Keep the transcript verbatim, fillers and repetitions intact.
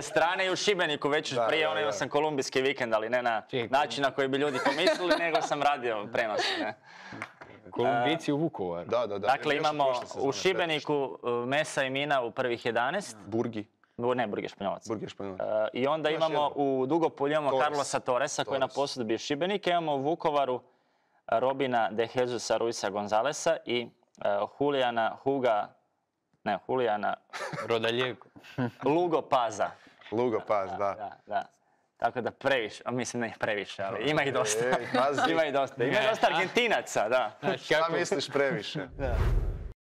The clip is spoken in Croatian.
obje strane i u Šibeniku već Da, prije, da, ono imao da. sam kolumbijski vikend, ali ne na Čekaj. način na koji bi ljudi pomislili, nego sam radio prenos. Ne. Kolumbici u Vukovaru. Da, da, da. Dakle, Još imamo prošle sezone u Šibeniku uh, Mesa i Mina u prvih jedanaest. Burgi. Bu- Ne, Burg je Španjolac. Burgi je Španjolac. Uh, I onda Još imamo jedno. u Dugopolju imamo Torres. Carlosa Torresa koji je na Torres. posudbi Šibenika. Imamo u Vukovaru Robina de Jesusa Ruisa Gonzalesa i uh, Julijana Huga, ne, Julijana Rodaljevko. Lugo Paza. Lugo Paz, da. Da, da. Tako da previše, a mislim ne previše, ali ima ih dosta. Ej, pazi. Ima ih dosta. Ima dosta Argentinaca, da. Znaš Šta kako, misliš previše? Da.